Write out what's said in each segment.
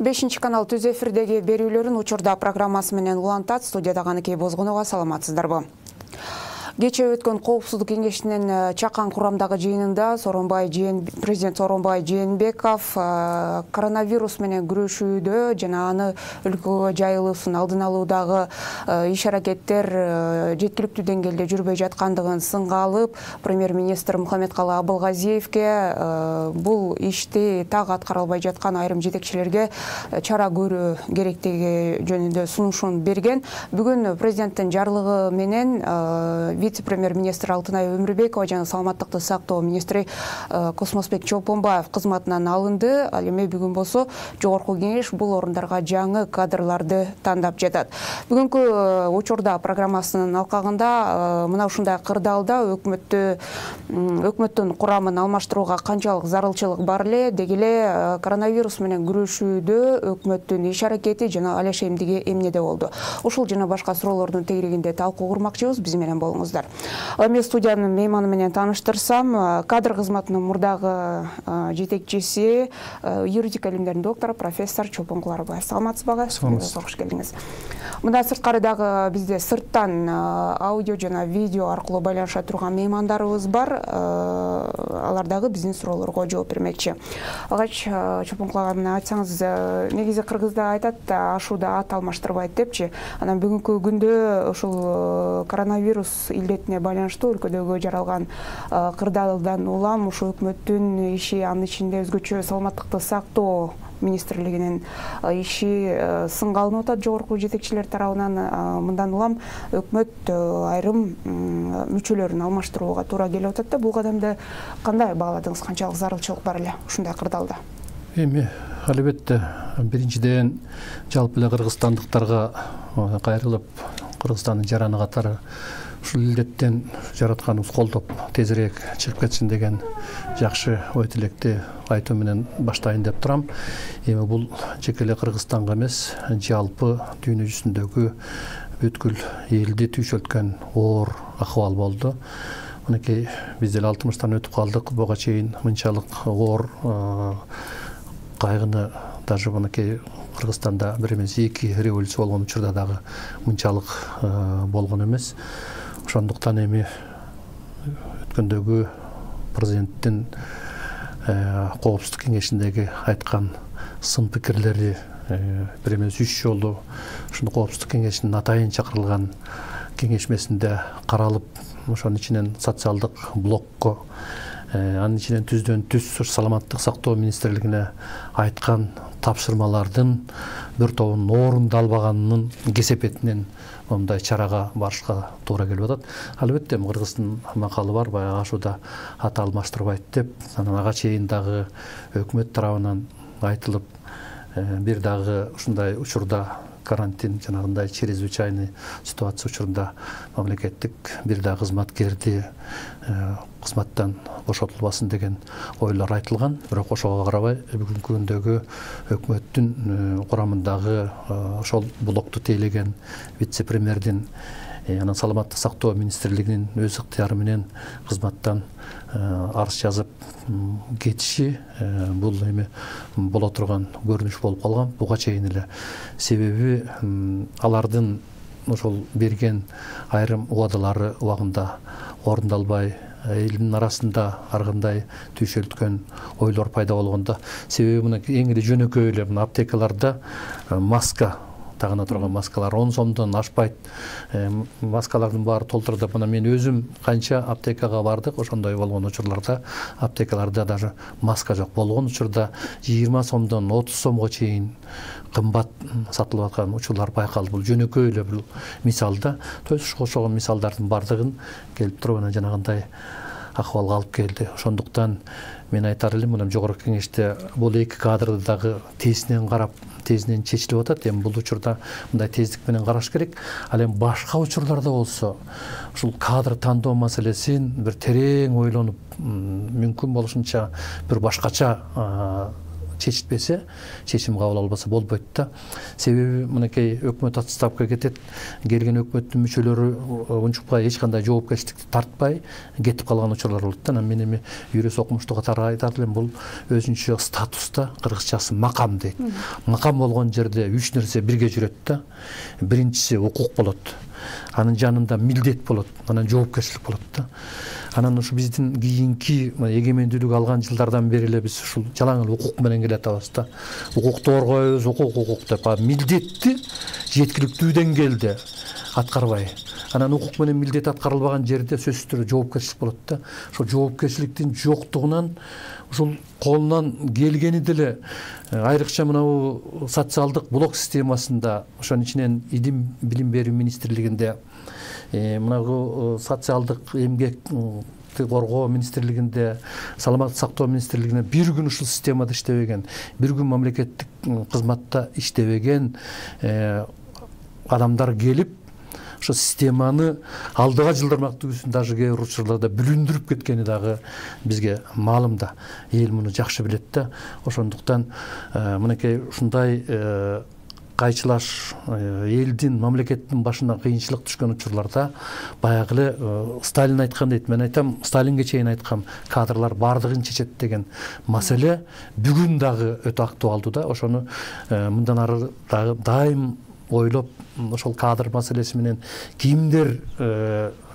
5 канал түз эфирдеги берүүлөрүн учурда программасы менен улантат. Студияда Каныкей Бозгунова, саламатсыздарбы? Кечээ өткөн Коопсуздук кеңешинин чакан курамдагы жыйынында президент Сооронбай Жээнбеков коронавирус менен күрөшүүдө жана аны өлкөгө жайылуусун алдын алуудагы иш-аракеттер жеткиликтүү деңгээлде жүрбөй жаткандыгын сынга алып, премьер-министр Мухаммедкалы Абылгазиевге бул ишти так аткара албай жаткан айрым жетекчилерге чара көрүү керектиги жөнүндө сунушун берген. Бүгүн президенттин жарлыгы менен вице-премьер-министр Алтынай Өмүрбекова жана саламаттыкты сактоо министри Космосбек Чолпонбаев кызматынан алынды. Ал эми бүгүн болсо жогорку кеңеш бул орундарга жаңы кадрларды тандап жатат. Бүгүнкү учурда программасынын алкагында мына ушундай кырдаалда өкмөттүн курамын алмаштырууга канчалык зарылчылык бар эле, деги эле коронавирус менен күрөшүүдө өкмөттүн иш-аракети жана алеш эмдиги эмнеде болду. Ушул жана башка суроолордун тегерегинде талкуу курмакчыбыз. Биз менен болуңуздар. Эми студиянын мейманы менен тааныштырсам, кадр кызматынын мурдагы жетекчиси, юридика илимдеринин доктору профессор Чолпон Куларбаев. Саламатсызбы? Кош келиңиз. Мында сырткары дагы бизде сырттан аудио жана видео аркылуу байланыша турган меймандарыбыз бар. Алар дагы биздин суроолорго жооп бермекчи. Алгач Чолпон Куларбаев, айтсаңыз, негизи кыргызда айтат, ашууда ат алмаштырбайт депчи. Анан бүгүнкү күндө ушул коронавирус илдетине байланыштуу өлкөдөгө жаралган кырдаалдан улам ушу өкмөттүн иши, анын ичинде өзгөчө саламаттыкты сактоо министрлигинин иши сынга алынып атат жогорку жетекчилер тарабынан. Мындан улам өкмөт айрым мүчөлөрүн алмаштырууга туура келип атат да. Бул кадамды кандай бааладыңыз? Канчалык зарылчылык бар эле ушундай кырдаалда? Эми албетте биринчиден жалпы эле кыргызстандыктарга кайрылып, Кыргызстандын жараны катары ушул илдеттен жаратканыбыз колдоп тезирээк чыгып кетсин деген жакшы ой тилекти айтуу менен баштайын деп турам. Эми бул жеке эле Кыргызстанга эмес, жалпы дүйнө жүзүндөгү бүткүл элди түйшөлткөн оор акыбал болду. Мынакей биз деле 60-тан өтүп калдык. Буга чейин мынчалык оор кайгыны даже мынакей Кыргызстанда бир эмес 2 революция болгон учурда дагы мынчалык болгон эмес. Ошондуктан эми өткөндөгү президенттин Коопсуздук кеңешиндеги айткан сын пикирлери бир эмес 3 жолу ушул Коопсуздук кеңешинин атайын чакырылган кеңешмесинде каралып, ошонун ичинен социалдык блокко, анын ичинен түздөн түз саламаттык сактоо министрлигине айткан тапшырмалардын бир тобунун орундалбаганынын кесепетинен мындай чарага барышка туура келип атат. Албетте Кыргыздын макалы бар, баягы ашууда ат алмаштырбайт деп. Анан ага чейин дагы өкмөт тарабынан айтылып, бир дагы ушундай учурда карантин жанагындай чрезвычайный ситуация учурунда мамлекеттик бир да кызматкерди кызматтан бошотулбасын деген ойлор айтылган. Бирок ошого карабай бүгүнкү күндөгү өкмөттүн курамындагы ошол блокту тейлеген вице-премьердин анан саламаттык сактоо министрлигинин өз ыктыяры менен кызматтан арыз жазып кетиши бул эми боло турган көрүнүш болуп калган. Буга чейин эле себеби алардын ошол берген айрым убадалары убагында орундалбай, элдин арасында ар кандай түйшөлткөн ойлор пайда болгондо. Себеби мына эң эле жөнөкөй эле мына аптекаларда маска, тагына турган маскалар 10 сомдон ашпайт. Маскалардын баары толтурдуп, мына мен өзүм канча аптекага бардык, ошондой болгон учурларда аптекаларда даже маска жок болгон учурда 20 сомдон 30 сомго чейин кымбат сатылып аткан учурлар байкалды. Бул жөнөкөй эле бул мисалда. Ошол мисалдардын бардыгын келип туруп анан жанагындай акыбалга алып келди. Ошондуктан мен айтар элем, мына жогорку кеңеште бул 2 кадрды дагы тезинен карап, тезинен чечилип атат. Эми бул учурда мындай тездик менен караш керек. Ал эми башка учурларда болсо ушул кадр тандоо маселесин бир терең ойлонуп, мүмкүн болушунча бир башкача чечилбесе, чечим кабыл албаса болбойт да. Себеби мынакей өкмөт отставкага кетет, келген өкмөттүн мүчөлөрү унчукпай эч кандай жоопкерчиликти тартпай кетип калган учурлар болот да. Мен эми юрист окумуштуу катары айтат элем, бул өзүнчө статуста, кыргызчасы макам дейт. Макам болгон жерде 3 нерсе бирге жүрөт да. Биринчиси укук болот. Анын жанында милдет болот, анан жоопкерчилик болот да. Анан ушу биздин кийинки эгемендүүлүк алган жылдардан бери эле биз ушул жалаң эле укук менен келатабыз да. Укукту коргойбуз, укук деп, милдетти жеткиликтүү деңгээлде аткарбай. Анан укук менен милдет аткарылбаган жерде сөзсүз түрдө жоопкерчилик болот да. Ошол жоопкерчиликтин жоктугунан ушул колунан келгени деле айрыкча мынабу социалдык блок системасында, ошонун ичинен билим берүү министрлигинде, мынагу социалдык эмгек коргоо министрлигинде, саламаттык сактоо министрлигинде бир күн ушул системада иштебеген, бир күн мамлекеттик кызматта иштебеген адамдар келип ошо системаны алдыга жылдырмак түгүсүн даже кээ бир учурларда бүлүндүрүп кеткени дагы бизге маалым да. Эл муну жакшы билет да. Ошондуктан мынакей ушундай кайчылаш элдин, мамлекеттин башына кыйынчылык түшкөн учурларда баягы эле Сталин айткан дейт. Мен айтам, Сталинге чейин айткам, кадрлар бардыгын чечет деген маселе бүгүн дагы өтө актуалдуу да. Ошону мындан ары дагы дайым ойлоп, ошол кадр маселеси менен кимдер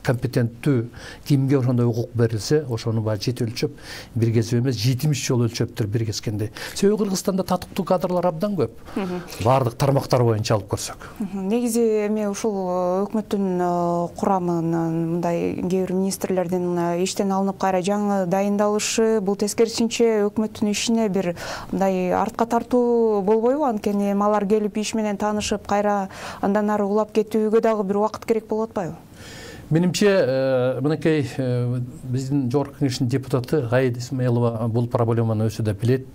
компетенттүү, кимге ошондой укук берилсе, ошону баягы жети өлчөп, бир кесип эмес 70 жол өлчөптүр бир кескендей. Себеби Кыргызстанда татыктуу кадрлар абдан көп. Бардык тармактар боюнча алып көрсөк. Негизи эми ушул өкмөттүн курамынан мындай кээ бир министрлердин иштен алынып кайра жаңы дайындалышы, бул тескерисинче өкмөттүн ишине бир мындай артка тартуу болбойбу? Анткени алар келип иш менен таанышып, кайра андан ары улап кетүүгө дагы бир убакыт керек болуп атпайбы? Менимче, мынакей биздин жогорку кеңештин депутаты Аида Исмаилова бул проблеманы өзү да билет.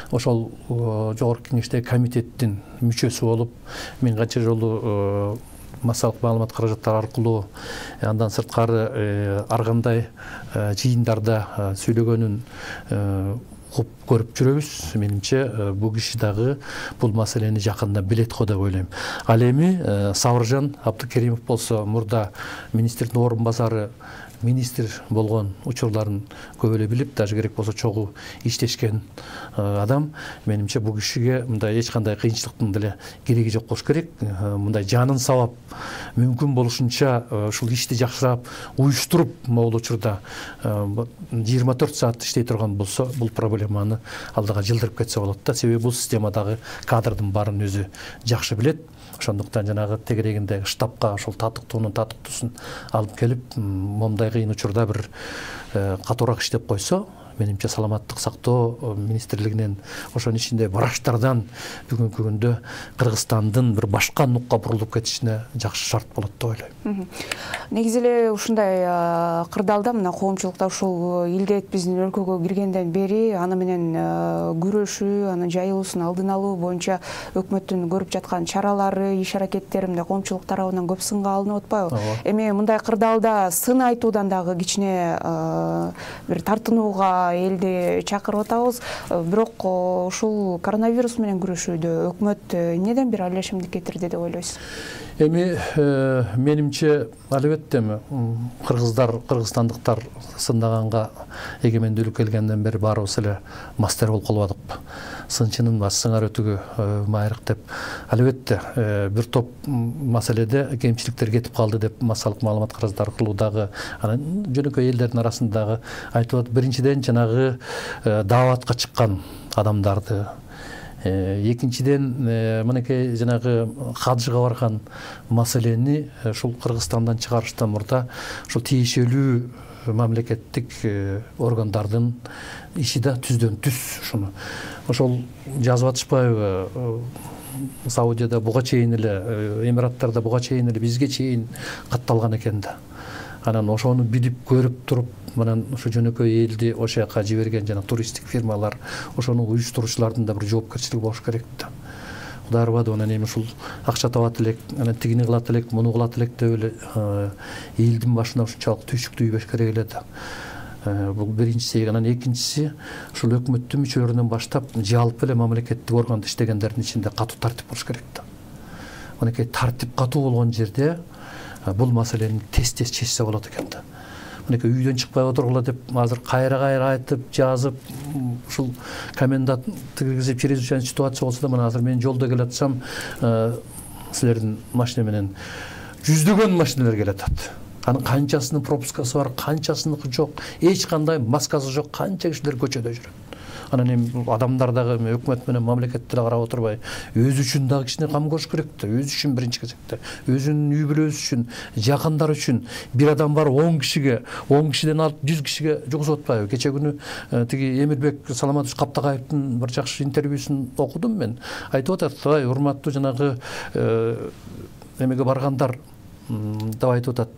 Ошол жогорку кеңештеги комитеттин мүчөсү болуп, мен канча жолу массалык маалымат каражаттары аркылуу, андан сырткары ар кандай жыйындарда сүйлөгөнүн көрүп жүрөбүз. Менимче бул киши дагы бул маселени жакында билет го деп ойлойм. Ал эми Сабыржан Абдыкеримов болсо, мурда министрдин орун басары министр болгон учурларын көп эле билип, даже керек болсо чогуу иштешкен адам. Менимче бул кишиге мындай эч кандай кыйынчылыктын деле кереги жок болуш керек. Мындай жанын сабап, мүмкүн болушунча ушул ишти жакшырап уюштуруп, могул учурда 24 саат иштей турган болсо, бул проблеманы алдыга жылдырып кетсе болот да. Себеби бул системадагы кадрдын баарын өзү жакшы билет. Ошондуктан жанагы тегерегиндеги штабка ошол татыктуунун татыктуусун алып келип, момундай кыйын учурда бир катуураак иштеп койсо, менимче саламаттык сактоо министрлигинен, ошонун ичинде врачтардан бүгүнкү күндө Кыргызстандын бир башка нукка бурулуп кетишине жакшы шарт болот деп ойлойм. Негизи эле ушундай кырдаалда мына коомчулукта ушул илдет биздин өлкөгө киргенден бери аны менен күрөшүү, анын жайылуусун алдын алуу боюнча өкмөттүн көрүп жаткан чаралары, иш аракеттери мындай коомчулук тарабынан көп сынга алынып атпайбы? Эми мындай кырдаалда сын айтуудан дагы кичине бир тартынууга элди чакырып атабыз. Бирок ушул коронавирус менен күрөшүүдө өкмөт эмнеден бир аралашымды кетирди деп ойлойсуз? Эми менимче албетте кыргыздар, кыргызстандыктар сындаганга эгемендүүлүк келгенден бери баарыбыз эле мастер болуп калбадыкпы? Сынчынын сыңар өтүгү майрык деп. Албетте бир топ маселеде кемчиликтер кетип калды деп массалык маалымат каражаттары аркылуу дагы анан жөнөкөй элдердин арасындагы айтып атат. Биринчиден жанагы дааватка чыккан адамдарды, экинчиден мынакей жанагы хаджыга барган маселени ушул Кыргызстандан чыгарыштан мурда ушул тиешелүү мамлекеттик органдардын иши да түздөн түз ушуну. Ошол жазып атышпайбы? Саудияда буга чейин эле, Эмираттарда буга чейин эле, бизге чейин катталган экен да. Анан ошону билип көрүп туруп, анан ошо жөнөкөй элди ошол жака жиберген жана туристтик фирмалар, ошону уюштуруучулардын да бир жоопкерчилиги болуш керек да. Кудай ырбады, анан эми ушул акча табат элек, анан тигини кылат элек, муну кылат элек деп эле элдин башына ушунчалык түйшүктүү үйбөш керек эле да. Бул биринчиси. Анан экинчиси ушул өкмөттүн мүчөлөрүнөн баштап жалпы эле мамлекеттик органда иштегендердин ичинде катуу тартип болуш керек да. Мынакей тартип катуу болгон жерде бул маселени тез чечсе болот экен да. Мынакей үйдөн чыкпай отургула деп азыр кайра айтып жазып ушул комендант киргизип чрезвычайный ситуация болсо да мына азыр мен жолдо келатсам силердин машина менен жүздөгөн машиналар келатат. Анын канчасынын пропускасы бар, канчасыныкы жок, эч кандай маскасы жок, канча кишилер көчөдө жүрөт. Анан эми адамдар дагы өкмөт менен мамлекетти эле карап отурбай, өзү үчүн дагы кичине кам көрүш керек да. Өзү үчүн биринчи кезекте, өзүнүн үй бүлөсү үчүн, жакындары үчүн. Бир адам бар 10 кишиге, 10 кишиден алып 100 кишиге жугузуп атпайбы? Кече күнү тиги Эмирбек Саламатович Каптакаевдин бир жакшы интервьюсун окудум мен. Айтып атат, "Ай, урматтуу жанагы эмеге баргандар" деп айтып атат.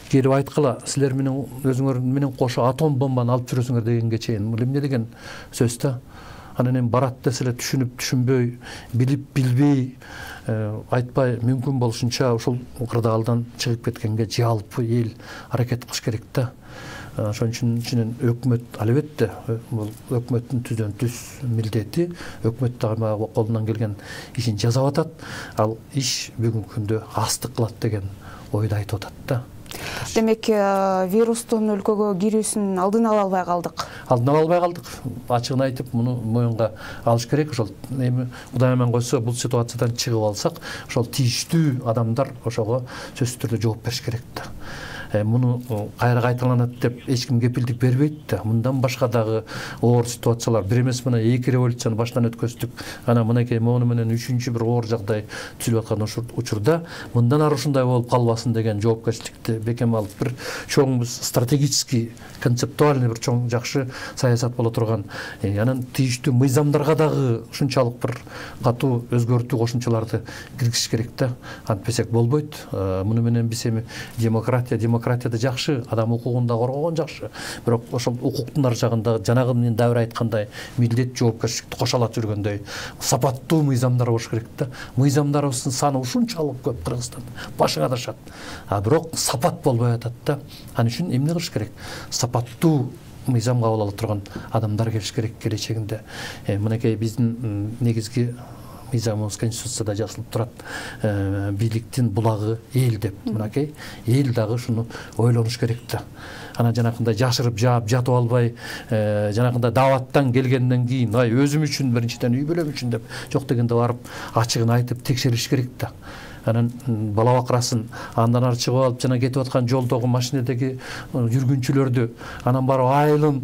Келип айткыла, силер менен өзүңөр менен кошо атом бомбаны алып жүрөсүңөр дегенге чейин. Бул эмне деген сөз да? Анан эми барат десе эле түшүнүп, түшүнбөй, билип, билбей, айтпай мүмкүн болушунча ушул кырдаалдан чыгып кеткенге жалпы эл аракет кылыш керек да. Ошон үчүн өкмөт албетте бул өкмөттүн түздөн түз милдети, өкмөт дагы колунан келген ишин жасап атат. Ал иш бүгүнкү күндө астык кылат деген ойду айтып атат да. Демек, вирустун өлкөгө кирүүсүн алдын ала албай калдык. Алдын ала албай калдык. Ачыгын айтып, муну моюнга алыш керек. Ошол эми Кудай аман койсо, бул ситуациядан чыгып алсак, ошол тийиштүү адамдар ошого сөзсүз түрдө жооп бериш керек да. Муну кайра кайталанат деп эч ким кепилдик бербейт да. Мындан башка дагы оор ситуациялар, бир эмес мына 2 революцияны баштан өткөздүк. Анан мынакей мону менен 3-чү бир оор жагдай түзүлүп аткан учурда мындан ары ушундай болуп калбасын деген жоопкерчиликти бекем алып, бир чоң стратегический, концептуальный бир чоң жакшы саясат боло турган. Анан тийиштүү мыйзамдарга дагы ушунчалык бир катуу өзгөртүү кошумчаларды киргизиш керек да. Антпесек болбойт. Муну менен биз эми демократияда жакшы, адам укугун да коргогон жакшы. Бирок ошол укуктун ар жагында жанагы мен дабыр айткандай милдет жоопкерчиликти кошалат жүргөндөй сапаттуу мыйзамдар болуш керек да. Мыйзамдарыбыздын саны ушунчалык көп Кыргызстанда. Башыңа дашат. Бирок сапат болбой атат да. Ал үчүн эмне кылыш керек? Сапаттуу мыйзам кабыл ала турган адамдар келиш керек келечегинде. Мынакей биздин негизги мыйзамыбыз Конституцияда жазылып турат. Бийликтин булагы эл деп. Мынакей эл дагы ушуну ойлонуш керек да. Анан жанакындай жашырып жаап жатып албай, жанакындай дааваттан келгенден кийин, ай өзүм үчүн биринчиден үй бүлөм үчүн деп жок дегенде барып ачыгын айтып текшериш керек да. Анан бала бакырасын андан ары чыгып алып жана кетип аткан жолдогу машинедеги жүргүнчүлөрдү анан барып айылын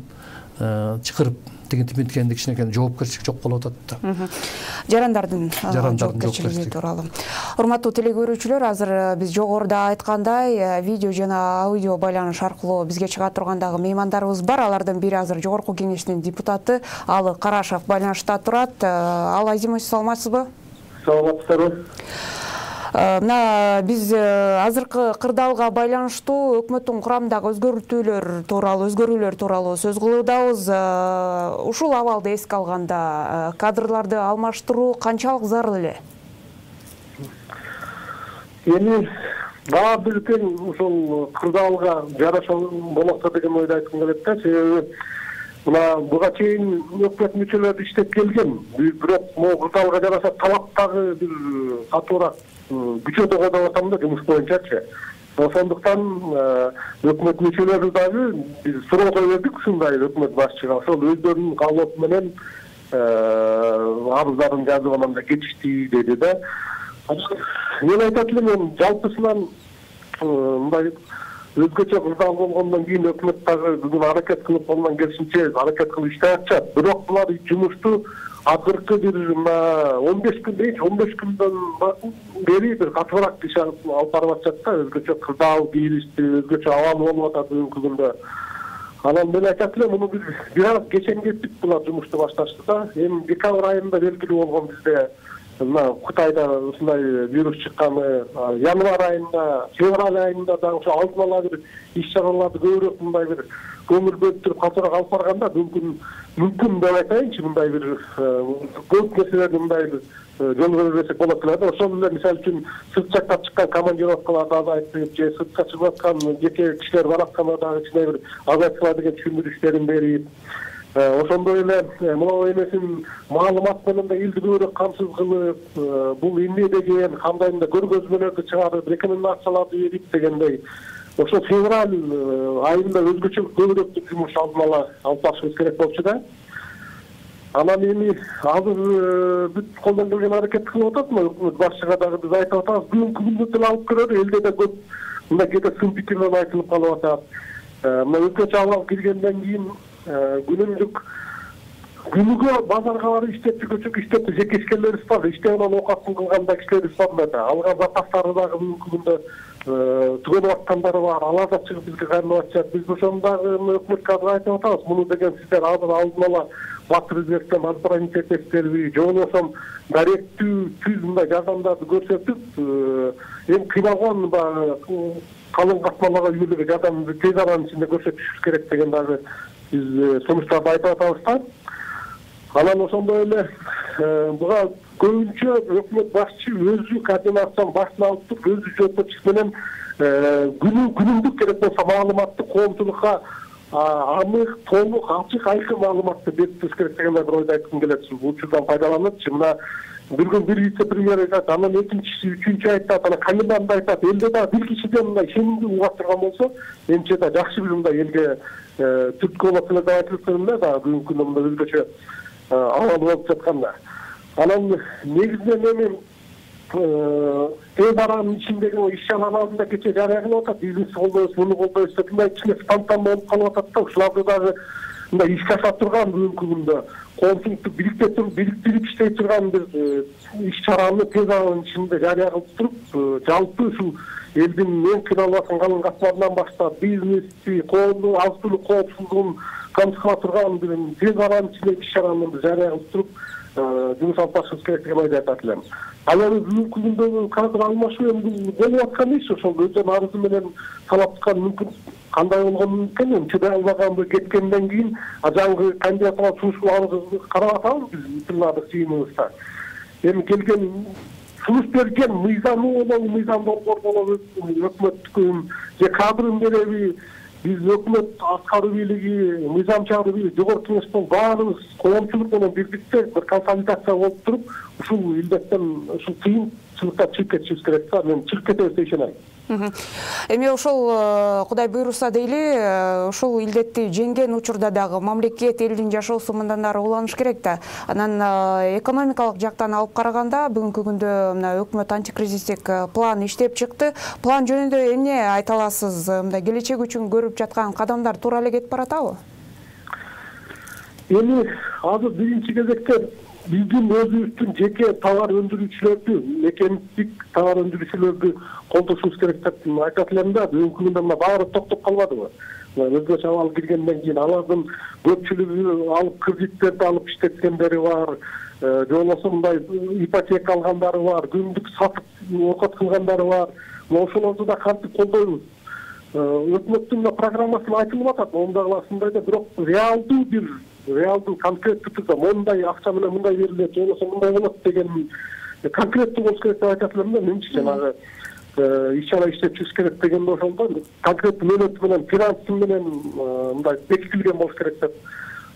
чакырып деген кичинекей жоопкерчилик жок болуп атат да. Жарандардын жоопкерчилиги тууралуу. Урматтуу телекөрүүчүлөр, азыр биз жогоруда айткандай, видео жана аудио байланыш аркылуу бизге чыга тургандагы меймандарыбыз бар. Алардын бири азыр жогорку кеңештин депутаты Алы Карашев байланышта турат. Алы Азимович, саламатсызбы? Саламатсыздарбы. Мына биз азыркы кырдаалга байланыштуу өкмөттүн курамындагы өзгөрүүлөр тууралуу сөз кылуудабыз. Ушул абалды эске алганда кадрларды алмаштыруу канчалык зарыл эле? Эми баа бирден ушул кырдаалга жараша болот деген ойду айткым келет да. Себеби мына буга чейин өкмөт мүчөлөрү иштеп келген. Бирок могу кырдаалга жараша талаптагы бир катуураак күчөдөгө деп атам да, жумуш боюнчачы. Ошондуктан өкмөт мүчөлөрү дагы биз суроо кое бердик ушундай өкмөт башчыга. Ошол өздөрүнүн каалоо менен арыздарын жазып анан да кетишти деди да. Мен айтат элем, жалпысынан мындай өзгөчө кырдаал болгондон кийин өкмөт дагы бүгүн аракет кылып колунан келишинче аракет кылып иштеп атышат. Бирок булар жумушту азыркы бир 15 күндөн бери бир катуураак иш алып барып атышат да. Өзгөчө кырдаал кийилишти, өзгөчө абал болуп атат бүгүнкү күндө. Анан мен айтат элем, муну бир аз кечен кетип булар жумушту башташты да. Эми декабрь айында белгилүү болгон бизде мына Кытайда ушундай вирус чыкканы январь айында, февраль айында дагы ошо алдын ала бир иш-чараларды көбүрөөк мындай бир көңүл бөлүп туруп калтырак алып барганда мүмкүн деп айтайынчы, мындай бир көп нерселерди мындай бир жолго берсек болот эле да. Ошол эле мисалы үчүн сырт жактан чыккан командировкаларды азайтып, же сыртка чыгып аткан жеке кишилер бар атканда дагы кичине бир азайтсыла деген түшүндүрүштөрүн берип, ошондой эле могу эмесин маалымат менен да элди көбүрөөк камсыз кылып, бул эмне деген кандай мындай көргөзмөлөрдү чыгарып, рекомендацияларды берип дегендей ошо февраль айында өзгөчө көбүрөөк жумуш алдын ала алып барышыбыз керек болчу да. Анан эми азыр бүт колдон келген аракетти кылып атат, өкмөт башчыга дагы биз айтып атабыз, бүгүнкү күндө деле алып көрөлү, элде да көп мындай кээде сын пикирлер айтылып калып атат. Мына өзгөчө абал киргенден кийин күнүгө базарга барып иштеп жеке ишкерлерибиз бар, иштебен оокатын кылганда кишилерибиз бар да, алган запастары дагы бүгүнкү күндө түгөнүп аткандары бар, алар да чыгып бизге кайрылып атышат. Биз ошону дагы өкмөткө азыр айтып атабыз, муну деген сиздер азыр алдын ала Батыр Өзбектен азбырайын этесиздерби, же болбосо даректүү түз мындай жардамдарды көрсөтүп, эми кыйналган калың катмаларга үйлөргө жардамды тез аранын ичинде көрсөтүшүбүз керек деген дагы биз сунуштарды айтып атабыз да. Анан ошондой эле буга көбүнчө өкмөт башчы өзү координациянын башына алып туруп, өзү жооптошчу менен күнүмдүк керек болсо маалыматты коомчулукка анык, толук, ачык, айкын маалыматты беришибиз керек деген бир ойду айткым келет. Бул учурдан пайдаланычы мына бир вице-премьер айтат, анан экинчиси, үчүнчү айтат, анан комендант айтат. Элде дагы бир кишиден мындай ишенимдүү угат турган болсо, менимче да жакшы бир мындай элге түрткү болот эле деп айтылып турмун да, бүгүнкү күндө мындай өзгөчө абал болуп жатканда. Анан негизинен эми тез аранын ичиндеги иш-чараларды да кечээ жарыя кылып атат, бизнес колдойбуз, муну колдойбуз деп мындай кичине спонтан болуп калып атат да. Ушуларды дагы мындай ишке аша турган бүгүнкү күндө коомчулукту бириктирип иштей турган бир иш-чараны тез аранын ичинде жарыя кылып туруп, жалпы ушул элдин эң кыйналып аткан калың катмарынан баштап бизнести, коомдун азык-түлүк коопсуздугун камсыздала турган бир тез аранын ичинде иш-чараны жарыя кылып туруп, жумуш алып барышыбыз керек деген ойду айтат элем. Ал эми бүгүнкү күндөгү кадр алмашуу эми болуп аткан иш, ошол өздөрүнүн арызы менен талап кылган мүмкүн кандай болгону мүмкүн, эми чыдай албаган кеткенден кийин жаңы кандидатура сунуштуу арызды карап атабыз биз тыңдадык жыйыныбызда. Эми келген сунуш берген мыйзамы болобу, мыйзам долбоор болобу, өкмөттүкүн же кадрын береби, биз өкмөт аткаруу бийлиги, мыйзам чыгаруу бийлиги, жогорку кеңештен баарыбыз коомчулук менен бирдикте бир консолидация болуп туруп, ушул илдеттен, ушул кыйынчылыктан чыгып кетишибиз керек да. Мен чыгып кетебиз деп ишенем. Эми ошол Кудай буйруса дейли, ушул илдетти жеңген учурда дагы мамлекет, элдин жашоосу мындан ары уланыш керек да. Анан экономикалык жактан алып караганда бүгүнкү күндө мына өкмөт антикризистик план иштеп чыкты. План жөнүндө эмне айта аласыз? Мындай келечек үчүн көрүп жаткан кадамдар туура эле кетип баратабы? Эми азыр биринчи кезекте биздин өзүбүздүн жеке товар өндүрүүчүлөрдү, мекендик товар өндүрүүчүлөрдү колдошубуз керек деп айтат элем да. Бүгүнкү күндө мына баары токтоп калбадыбы? Өзгөчө абал киргенден кийин алардын көпчүлүгү алып кредиттерди алып иштеткендери бар, же болбосо мындай ипотека алгандары бар, күндүк сатып оокат кылгандары бар. Ошолорду да кантип колдойбуз? Өкмөттүн программасында айтылып атат, онда кыласындай да, бирок реалдуу конкреттүү түрдө мондай акча менен мындай берилет, же болбосо мындай болот деген конкреттүү болуш керек деп айтат элем да. Менимче жанагы иш-чара иштеп чыгыш керек дегенде ошондо конкреттүү мөөнөтү менен, финансы менен мындай бекитилген болуш керек деп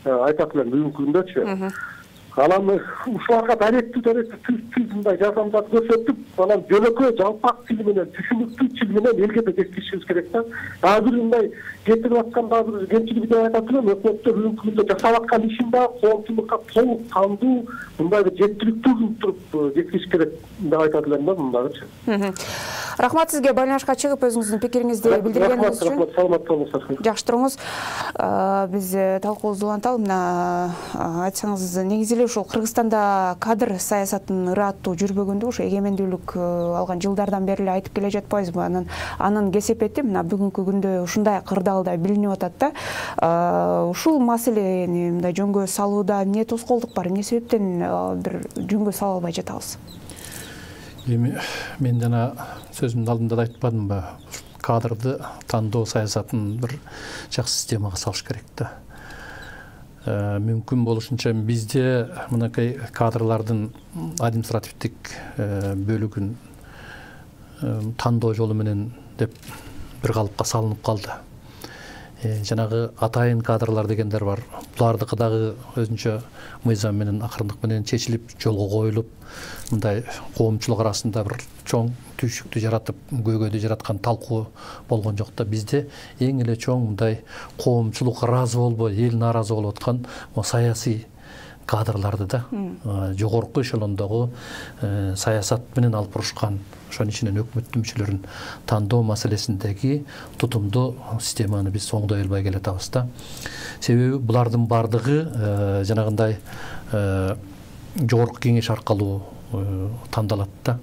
айтат элем бүгүнкү күндөчү. Анан ушуларга даректүү түз мындай жардамдарды көрсөтүп, анан жөнөкөй жалпак тил менен, түшүнүктүү тил менен элге да жеткиришибиз керек да. Азыр мындай кетирип аткан дагы кемчилиги деп айтат элем, өкмөттөр бүгүнкү күндө жасап аткан ишин да коомчулукка толук кандуу, мындай бир жеткиликтүү кылып туруп жеткириш керек деп айтат элем да мындагычы. Рахмат сизге байланышка чыгып өзүңүздүн пикириңизди билдиргениңиз үчүн. Рахмат, саламат болуңуздар. Жакшы туруңуз. Биз талкуубузду уланталы, мына айтсаңыз негизи эле ушул Кыргызстанда кадр саясатын ыраттуу жүрбөгөндү ошо эгемендүүлүк алган жылдардан бери эле айтып келе жатпайбызбы? Анын кесепети мына бүгүнкү күндө ушундай кырдаалда билинип атат да. Ушул маселени мындай жөнгө салууда эмне тоскоолдук бар? Эмне себептен бир жөнгө сала албай жатабыз? Эми мен жана сөзүмдүн алдында да айтпадымбы? Кадрды тандоо саясатын бир жакшы системага салыш керек да. Мүмкүн болушунча бизде мынакей кадрлардын административдик бөлүгүн тандоо жолу менен деп бир калыпка салынып калды. Жанагы атайын кадрлар дегендер бар. Булардыкы дагы өзүнчө мыйзам менен акырындык менен чечилип, жолго коюлуп, мындай коомчулук арасында бир чоң түйшүктү жаратып, көйгөйдү жараткан талкуу болгон жок да. Бизде эң эле чоң мындай коомчулук ыраазы болбой, эл нааразы болуп аткан саясий кадрларды да, жогорку эшелондогу саясат менен алып барышкан, ошонун ичинен өкмөттүн мүчөлөрүн тандоо маселесиндеги тутумдуу системаны биз оңдой албай келатабыз да. Себеби булардын бардыгы жанагындай жогорку кеңеш аркылуу тандалат да.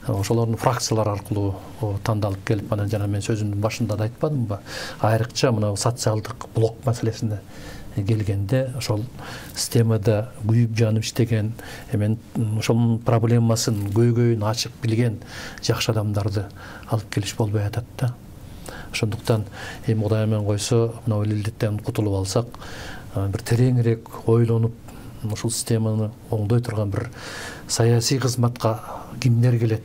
Ошолордун фракциялар аркылуу тандалып келип, анан жана мен сөзүмдүн башында да айтпадымбы? Айрыкча мына социалдык блок маселесине келгенде ошол системада күйүп жанып иштеген, эми ошонун проблемасын, көйгөйүн ачык билген жакшы адамдарды алып келиш болбой атат да. Ошондуктан эми Кудай менен койсо, мына илдеттен кутулуп алсак, бир тереңирээк ойлонуп, ушул системаны оңдой турган бир саясий кызматка кимдер келет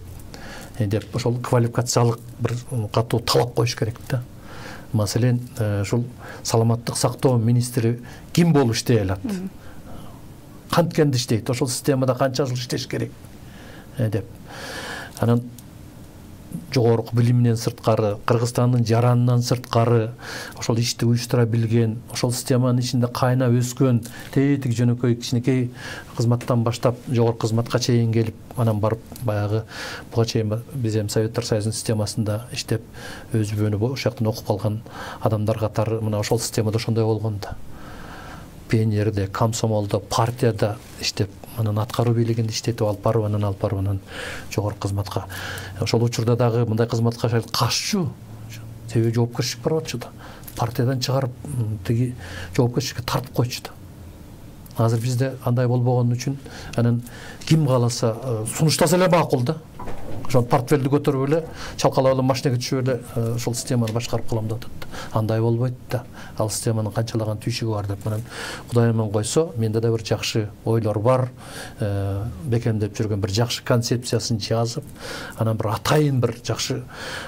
деп ошол квалификациялык бир катуу талап коюш керек да. Маселен, ушул саламаттык сактоо министри ким болуп иштей алат? Канткенде иштейт? Ошол системада канча жыл иштеш керек деп. Анан жогорку билиминен сырткары, Кыргызстандын жаранынан сырткары ошол ишти уюштура билген, ошол системанын ичинде кайнап өскөн, тетик жөнөкөй кичинекей кызматтан баштап жогорку кызматка чейин келип, анан барып баягы буга чейин биз эми Советтер Союзунун системасында иштеп, өзүбөнү ошол жактан окуп калган адамдар катары мына ошол системада ошондой болгон да. Пионерде, комсомолдо, партияда иштеп, анан аткаруу бийлигинде иштетип алып барып, анан жогорку кызматка. Ошол учурда дагы мындай кызматка кашчу, себеби жоопкерчилик бар болчу да. Партиядан чыгарып, тиги жоопкерчиликке тартып койчу да. Азыр бизде андай болбогон үчүн, анан ким кааласа сунуштаса эле макул да. Ошол портфелди көтөрүп эле, чалкалап эле машинеге түшүп эле ошол системаны башкарып калам деп атат. Андай болбойт да. Ал системанын канчалаган түйшүгү бар деп, анан Кудай менен койсо, менде да бир жакшы ойлор бар, бекемдеп жүргөн бир жакшы концепциясын жазып, анан бир атайын бир жакшы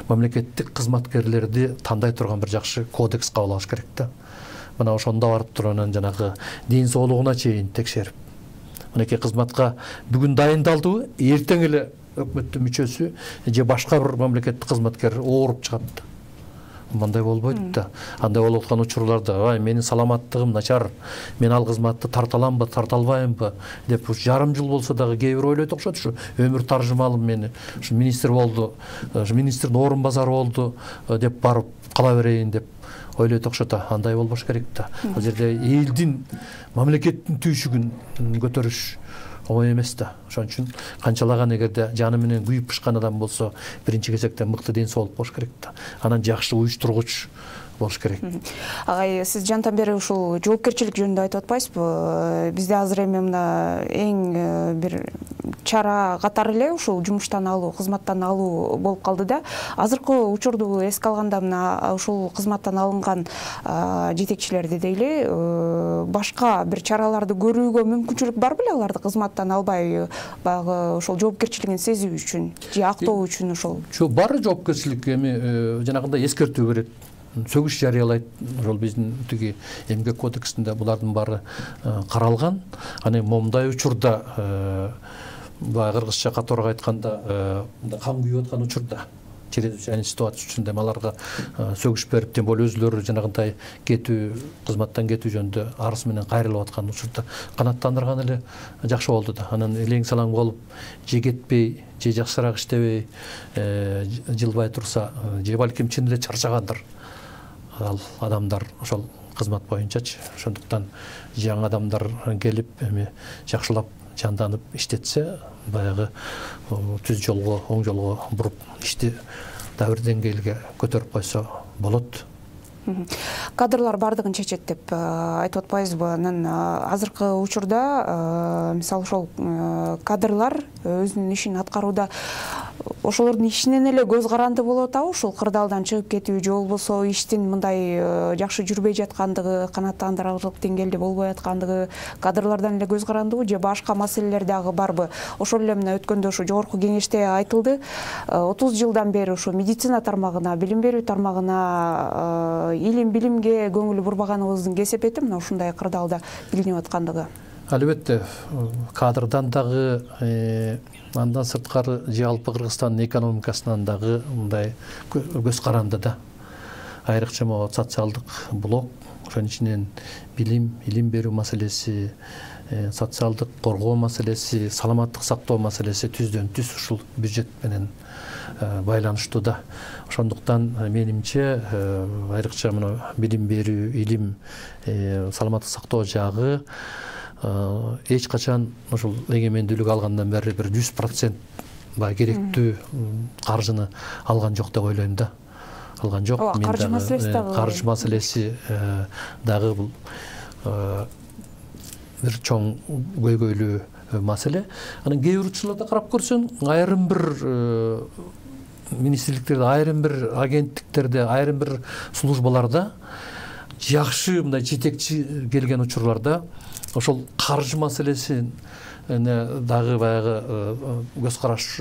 мамлекеттик кызматкерлерди тандай турган бир жакшы кодекс кабыл алыш керек да. Мына ошондо барып туруп анан жанагы ден соолугуна чейин текшерип, мынакей кызматка бүгүн дайындалдыбы, эртең эле өкмөттүн мүчөсү же башка бир мамлекеттик кызматкер ооруп чыгат да. Мындай болбойт да. Андай болуп аткан учурларда, менин саламаттыгым начар, мен ал кызматты тарта аламбы, тарта албаймбы деп жарым жыл болсо дагы кээ бир ойлойт окшойт. Ушу өмүр таржымалым мени, ушу министр болду, министрдин орун базары болду деп барып кала берейин деп ойлойт окшойт. Андай болбош керек да. Ал жерде элдин, мамлекеттин түйшүгүн көтөрүш оңой эмес да. Ошон үчүн канчалаган эгерде жаны менен күйүп бышкан адам болсо, биринчи кезекте мыкты ден соолук болуш керек да. Анан жакшы уюштургуч болуш керек. Агай, сиз жантан бери ушул жоопкерчилик жөнүндө айтып атпайсызбы? Бизде азыр эми мына эң бир чара катары эле ушул жумуштан алуу, кызматтан алуу болуп калды да. Азыркы учурду эске алганда мына ушул кызматтан алынган жетекчилерди дейли, башка бир чараларды көрүүгө мүмкүнчүлүк бар беле аларды кызматтан албай, баягы ошол жоопкерчилигин сезүү үчүн же актоо үчүн ошол? Жок, бар жоопкерчилик, эми жанагындай эскертүү берет. Сөгүш жарыялайт. Ошол биздин тиги эмгек кодексинде булардын баары каралган. Аны момундай учурда баягы кыргызча катуураак айтканда кан күйүп аткан учурда, чрезвычайный ситуация үчүндө аларга сөгүш берип, тем более өзүлөрү жанагындай кетүү, кызматтан кетүү жөнүндө арыз менен кайрылып аткан учурда канааттандырган эле жакшы болду да. Анан элең салаң болуп, же кетпей, же жакшыраак иштебей, жылбай турса, же балким чын эле чарчагандыр ал адамдар, ошол кызмат боюнчачы. Ошондуктан жаңы адамдар келип эми жакшылап жанданып иштетсе, баягы түз жолго, оң жолго буруп ишти да бир деңгээлге көтөрүп койсо болот. Кадрлар бардыгын чечет деп айтып атпайбызбы? Анан азыркы учурда мисалы ошол кадрлар өзүнүн ишин аткарууда ошолордун ишинен эле көз каранды болуп атабы? Ушул кырдаалдан чыгып кетүү же болбосо иштин мындай жакшы жүрбөй жаткандыгы, канааттандырарлык деңгээлде болбой аткандыгы кадрлардан эле көз карандыбы же башка маселелер дагы барбы? Ошол эле мына өткөндө ушу жогорку кеңеште айтылды. 30 жылдан бери ушу медицина тармагына, билим берүү тармагына, илим билимге көңүл бурбаганыбыздын кесепети мына ушундай кырдаалда билинип аткандыгы. Албетте, кадрдан дагы, андан сырткары жалпы Кыргызстандын экономикасынан дагы мындай көз каранды да. Айрыкча могу социалдык блок, ошонун ичинен билим, илим берүү маселеси, социалдык коргоо маселеси, саламаттык сактоо маселеси түздөн түз ушул бюджет менен байланыштуу да. Ошондуктан менимче айрыкча мына билим берүү, илим, саламаттык сактоо жагы эч качан ушул эгемендүүлүк алгандан бери бир 100% керектүү каржыны алган жок деп ойлойм да. Алган жок. Каржы маселеси дагы. Каржы маселеси дагы бул бир чоң көйгөйлүү маселе. Анан кээ бир учурларда карап көрсөң, айрым бир министрликтерде, айрым бир агенттиктерде, айрым бир службаларда жакшы мындай жетекчи келген учурларда ошол каржы маселесин дагы баягы көз караш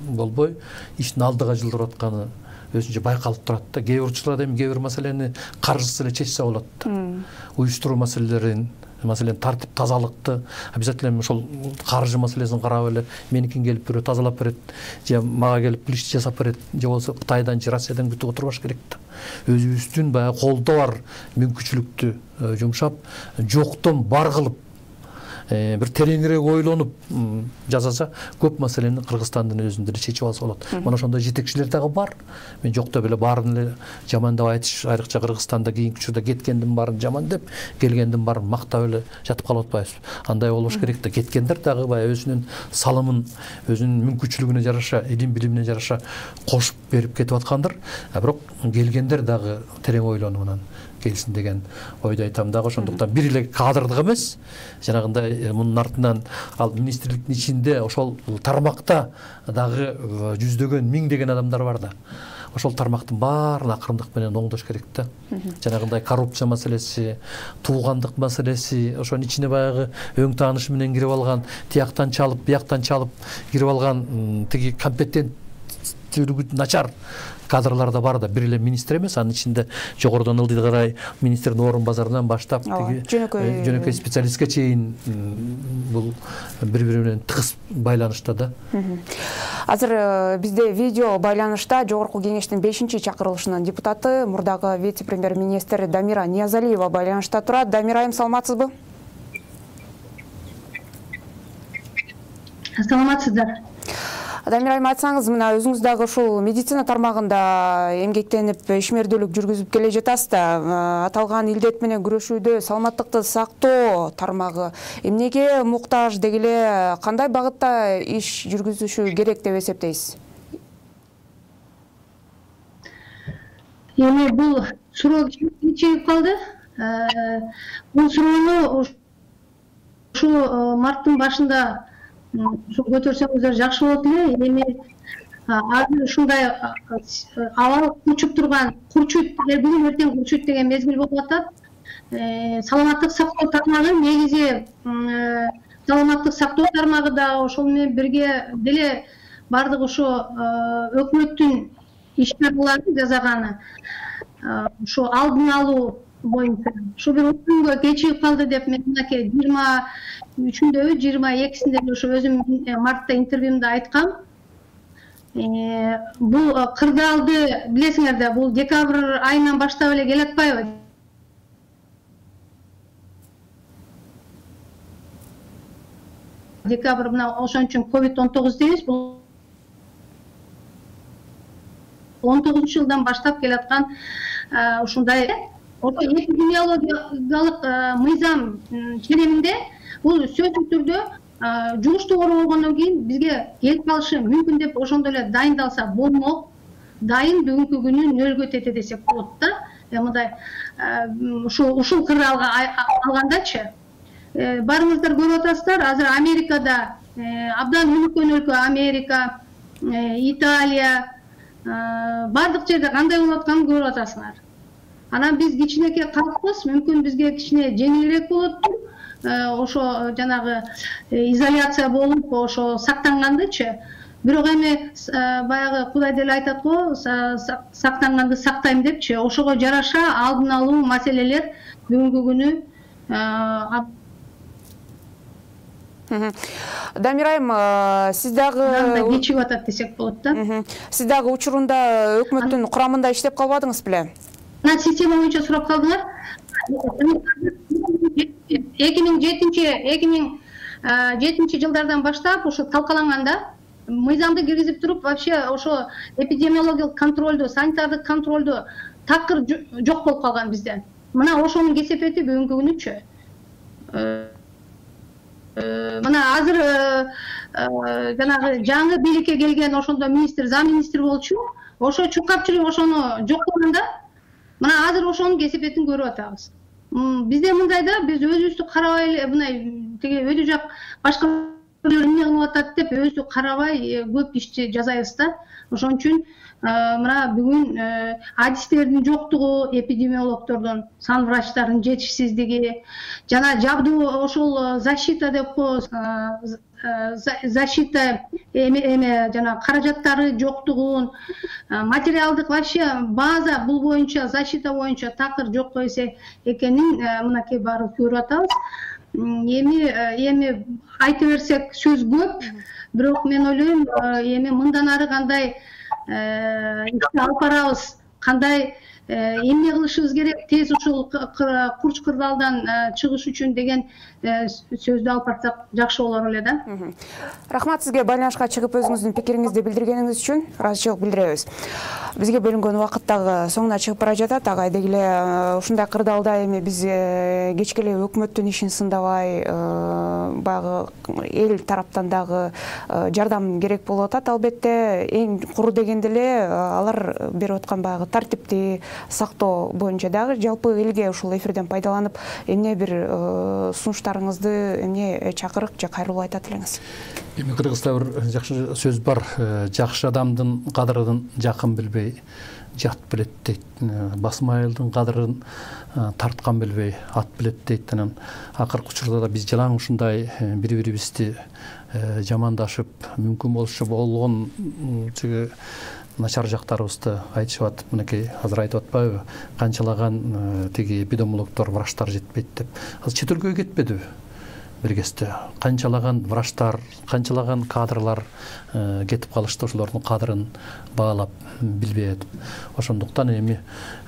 болбой, иштин алдыга жылдырып атканы өзүнчө байкалып турат да. Кээ бир учурларда эми кээ бир маселени каржысыз эле чечсе болот да. Уюштуруу маселелерин, маселен тартип тазалыкты обязательно ошол каржы маселесин карап эле меникин келип бирөө тазалап берет, же мага келип бул ишти жасап берет, же болбосо Кытайдан же Россиядан күтүп отурбаш керек да. Өзүбүздүн баягы колдо бар мүмкүнчүлүктү жумшап, жоктон бар кылып бир тереңирээк ойлонуп жасаса, көп маселени Кыргызстандын өзүндө эле чечип алса болот. Мына ошондой жетекчилер дагы бар. Мен жок деп эле баарын эле жамандап айтыш, айрыкча Кыргызстанда кийинки учурда кеткендин баарын жаман деп, келгендин баарын мактап эле жатып калып атпайбыз. Андай болбош керек да. Кеткендер дагы баягы өзүнүн салымын, өзүнүн мүмкүнчүлүгүнө жараша, илим билимине жараша кошуп берип кетип аткандыр. Бирок келгендер дагы терең ойлонуп анан келсин деген ойду айтам дагы. Ошондуктан бир эле кадрдык эмес, жанагындай мунун артынан ал министрликтин ичинде ошол тармакта дагы жүздөгөн, миңдеген адамдар бар да. Ошол тармактын баарын акырындык менен оңдош керек да. Жанагындай коррупция маселеси, туугандык маселеси, ошонун ичине баягы өң таанышы менен кирип алган, тияктан чалып, бияктан чалып кирип алган тиги компетенттүүлүгү начар кадрлар да бар да. Бир эле министр эмес, анын ичинде жогорудон ылдый карай министрдин орун базарынан баштап жөнөкөй специалистке чейин бул бири-бири менен тыгыз байланышта да. Азыр бизде видео байланышта жогорку кеңештин 5-чакырылышынын депутаты, мурдагы вице-премьер-министр Дамира Ниязалиева байланышта турат. Дамира айым, саламатсызбы? Саламатсыздар. Дамир айым, айтсаңыз, мына өзүңүз дагы ушул медицина тармагында эмгектенип ишмердүүлүк жүргүзүп келе жатасыз да. Аталган илдет менен күрөшүүдө саламаттыкты сактоо тармагы эмнеге муктаж, деги эле кандай багытта иш жүргүзүшү керек деп эсептейсиз? Эми бул суроо чыгып калды. Бул суроону ушу марттын башында көтөрсөңүздөр жакшы болот эле. Эми азыр ушундай абал курчуп турган, курчут, бүгүн эртең курчут деген мезгил болуп атат. Саламаттык сактоо тармагы негизи саламаттык сактоо тармагы да ошол менен бирге деле бардык ошо өкмөттүн иш-чараларын жасаганы. Ошо алдын алуу боюнча ушу бир күнгө кечигип калды деп мен мынакей 23-ндө 22-синде ошо өзүм мартта интервьюмда айткам. Бул кырдаалды билесиңер да, бул декабрь айынан баштап эле келатпайбы? Декабрь мына ошон үчүн COVID-19 дейбиз. Бул 19-жылдан баштап келаткан ушундай ошо эпидемиологиялык мыйзам ченеминде бул сөзсүз түрдө жугуштуу оору болгондон кийин бизге келип калышы мүмкүн деп ошондой эле дайындалса болмок, дайын бүгүнкү күнү нөлгө тете десек болот да. Мындай ушул кыры алгандачы барыңыздар көрүп атасыздар, азыр Америкада абдан өнүккөн өлкө Америка, Италия, бардык жерде кандай болуп атканын көрүп атасыңар. Анан биз кичинекей калкпыз, мүмкүн бизге кичине жеңилирээк болот. Ошо жанагы изоляция болуп, ошо сактангандычы. Бирок эми баягы Кудай деле айтат го, сактанганды сактайм депчи. Ошого жараша алдын алуу маселелер бүгүнкү күнү. Дамир айым, сиз дагы кечигип атат десек болот да. Сиз дагы учурунда өкмөттүн курамында иштеп калбадыңыз беле? Система боюнча сурап калдыңар. 2007 жылдардан баштап ошо талкаланганда мыйзамды киргизип туруп вообще ошо эпидемиологиялык контролду, санитардык контролду такыр жок болуп калган бизде. Мына ошонун кесепети бүгүнкү күнүчү. Мына азыр жанагы жаңы бийликке келген ошондо министр, зам министр болчу. Ошо чуркапчылык ошону жок кылганда, мына азыр ошонун кесепетин көрүп атабыз. Бизде мындайда биз өзүбүздү карабай эле мындай тиги өтө жак башкалар эмне кылып атат деп өзүбүздү карабай көп ишти жасайбыз да. Ошон үчүн мына бүгүн адистердин жоктугу, эпидемиологдордун, санврачтардын жетишсиздиги, жана жабдуу ошол защита деп коебуз, защита жана каражаттары жоктугун, материалдык вообще база бул боюнча, защита боюнча такыр жок койсе экенин мынакей баары көрүп атабыз. Эми айта берсек сөз көп, бирок мен ойлойм, эми мындан ары кандай ишти алып барабыз, кандай эмне кылышыбыз керек, тез ушул курч кырдаалдан чыгыш үчүн деген сөздү алып барсак жакшы болор эле да. Рахмат сизге байланышка чыгып өзүңүздүн пикириңизди билдиргениңиз үчүн ыраазычылык билдиребиз. Бизге бөлүнгөн убакыт дагы соңуна чыгып бара жатат. Ага дегеле ушундай кырдаалда эми биз кечке эле өкмөттүн ишин сындабай, баягы эл тараптан дагы жардам керек болуп атат. Албетте эң куру дегенде эле алар берип аткан баягы тартипти сактоо боюнча дагы жалпы элге ушул эфирден пайдаланып эмне бир сунуштарыңызды, эмне чакырык же кайрылуу айтат элеңиз? Эми Кыргызда бир жакшы сөз бар, жакшы адамдын кадырын жакын билбей жат билет дейт, басым айылдын кадырын тарткан билбей ат билет дейт. Анан акыркы учурда да биз жалаң ушундай бири-бирибизди жамандашып, мүмкүн болушу болгон начар жактарыбызды айтышып атып, мынакей азыр айтып атпайбы, канчалаган тиги эпидемиологдор, врачтар жетпейт деп. Азыр чет өлкөгө кетпедиби? Бир кезде канчалаган врачтар, канчалаган кадрлар кетип калышты, ошолордун кадырын баалап билбей атып. Ошондуктан эми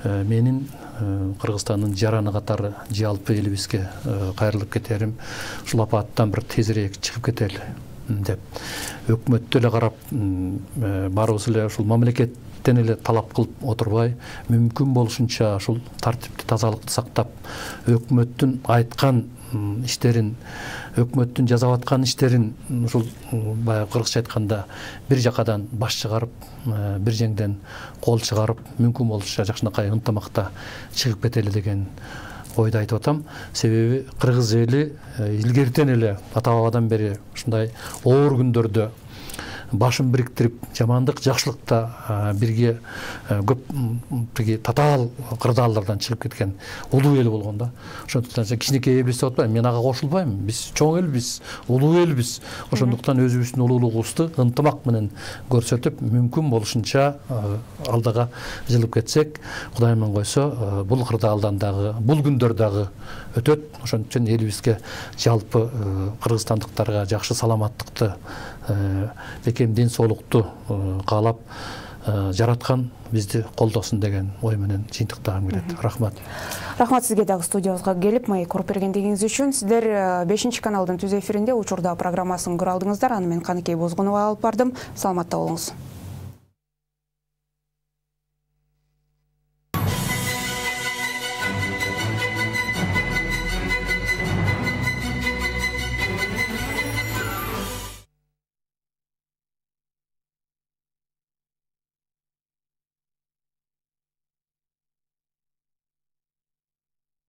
менин Кыргызстандын жараны катары жалпы элибизге кайрылып кетерим, ушул апаттан бир тезирээк чыгып кетели деп өкмөттү эле карап баарыбыз эле ушул мамлекеттен эле талап кылып отурбай, мүмкүн болушунча ушул тартипти, тазалыкты сактап, өкмөттүн айткан иштерин, өкмөттүн жасап аткан иштерин ушул баягы кыргызча айтканда бир жакадан баш чыгарып, бир жеңден кол чыгарып, мүмкүн болушунча жакшынакай ынтымакта чыгып кетели деген ойду айтып атам. Себеби кыргыз эли илгертен эле ата бабадан бери ушундай оор күндөрдө башын бириктирип, жамандык, жакшылыкта бирге көп тиги татаал кырдаалдардан чыгып кеткен улуу эл болгон да. Ошондуктан кичинекей элбиз деп атпайм, мен ага кошулбайм. Биз чоң элбиз, улуу элбиз. Ошондуктан өзүбүздүн улуулугубузду ынтымак менен көрсөтүп, мүмкүн болушунча алдыга жылып кетсек, Кудай менен койсо, бул кырдаалдан дагы, бул күндөр дагы өтөт. Ошон үчүн элибизге жалпы кыргызстандыктарга жакшы саламаттыкты, бекем ден соолукту каалап, жараткан бизди колдосун деген ой менен жыйынтыктагым келет. Рахмат. Рахмат сизге дагы студиябызга келип маек уруп бергендигиңиз үчүн. Сиздер 5-каналдын түз эфиринде учурда программасын көрө алдыңыздар. Аны мен Каныкей Бозгунова алып бардым. Саламатта болуңуз.